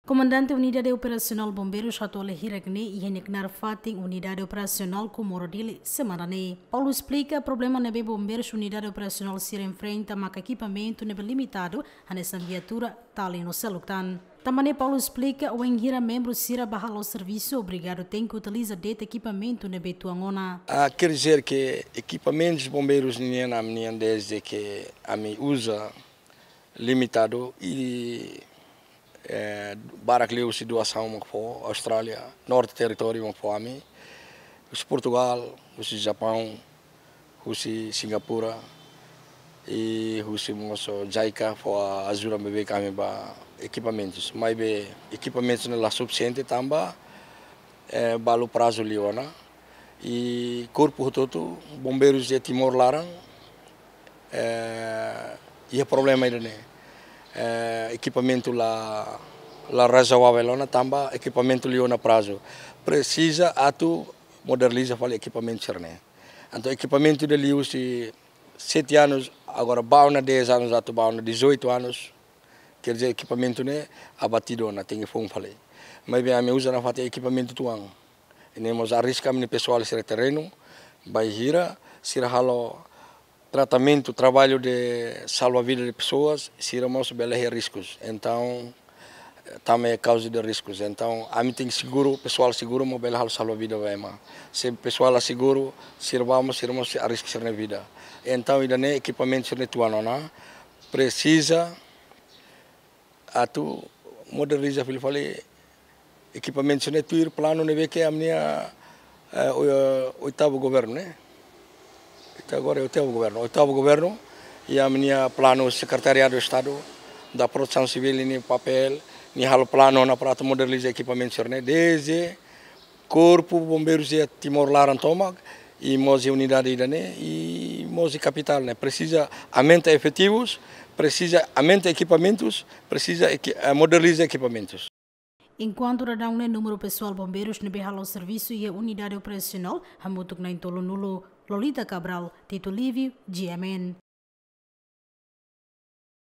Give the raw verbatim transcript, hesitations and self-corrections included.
Komandante Unidade Operasionál Bombeirus hato'o hela hirak ne'e iha nia knaar fatin Unidade Operasionál Comoro Dili semana ne'e. Paulo esplika problema ne'ebé bombeirus unidade operasionál sira enfrenta maka ekipamentu ne'ebé limitadu, hanesan viatura, tali no seluk tan. Tanba ne'e Paulo esplika, wainhira membru sira bá halo servisu, obrigadu tenke utiliza de'it ekipamentu ne'ebé tuan ona. Ah, quer dizer que ekipamentus bombeirus nian ami-nian desde que ami uza limitadu i, eh, barak liu husi doasaun mak fó Austrália, Norte Territóriu mak fó ami, husi Portugal, husi Japaun, husi Singapura, i husi mós JICA fó ajuda ne'ebé ami ba ekipamentus. Maibé ekipamentus ne'e la sufisiente tanba, eh, balu prazu liu ona. I korpu hotu-hotu bombeirus de Timor laran, eh, iha problema ida-ne'e. Eh, ekipamentu la, la razoavel ona tanba ekipamentu liu ona prazu. Presiza atu moderniza fali ekipamentu sira-ne'e. Entaun ekipamentu ida liu husi sete anos, agora bá ona dez anos, atu bá ona dezoito anos. Quer dizer, ekipamentu ne'e abatidu ona, tenke foun fali. Maibé ami uza nafatin ekipamentu tuan. I ne'e mós arrisku ami-nia pesoál sira terrenu, bainhira sira halo tratamentu, trabalho de salva vida de pessoas, sira mós bele iha riskus. Entaun, tanba ne'e kauza de riskus. Entaun, ami tenke seguru, pesoál seguru mak bele halo salva vida ba ema. Se pesoál la seguru, sira bá mós, sira mós arrisku sira-nia vida. Entaun, ida-ne'e ekipamentu sira-ne'e tuan ona, presiza atu moderniza fali fali ekipamentu sira-ne'e tuir planu ne'ebé ke ami-nia, eh, oi-, oitavu governu, ne'e? Ita agora é oitavu governu. Oitavu governu, i ami-nia planu Sekretariadu Estadu da Protesaun Sivíl nia papél, nia halo planu ona para atu moderniza ekipamentu sira-ne'e, desde Korpu Bombeirus iha Timor laran tomak, i mós iha unidade ida-ne'e, i mós iha kapitál ne'e. Presiza aumenta efetivus, presiza aumenta ekipamentus, presiza equi-, eh, moderniza ekipamentus. Enkuantu dadaun ne'e númeru pesoál bombeirus ne'ebé halo servisu iha unidade operasionál hamutuk na'in-tolunulu. Lolita Cabral, Tito Livio, G M N.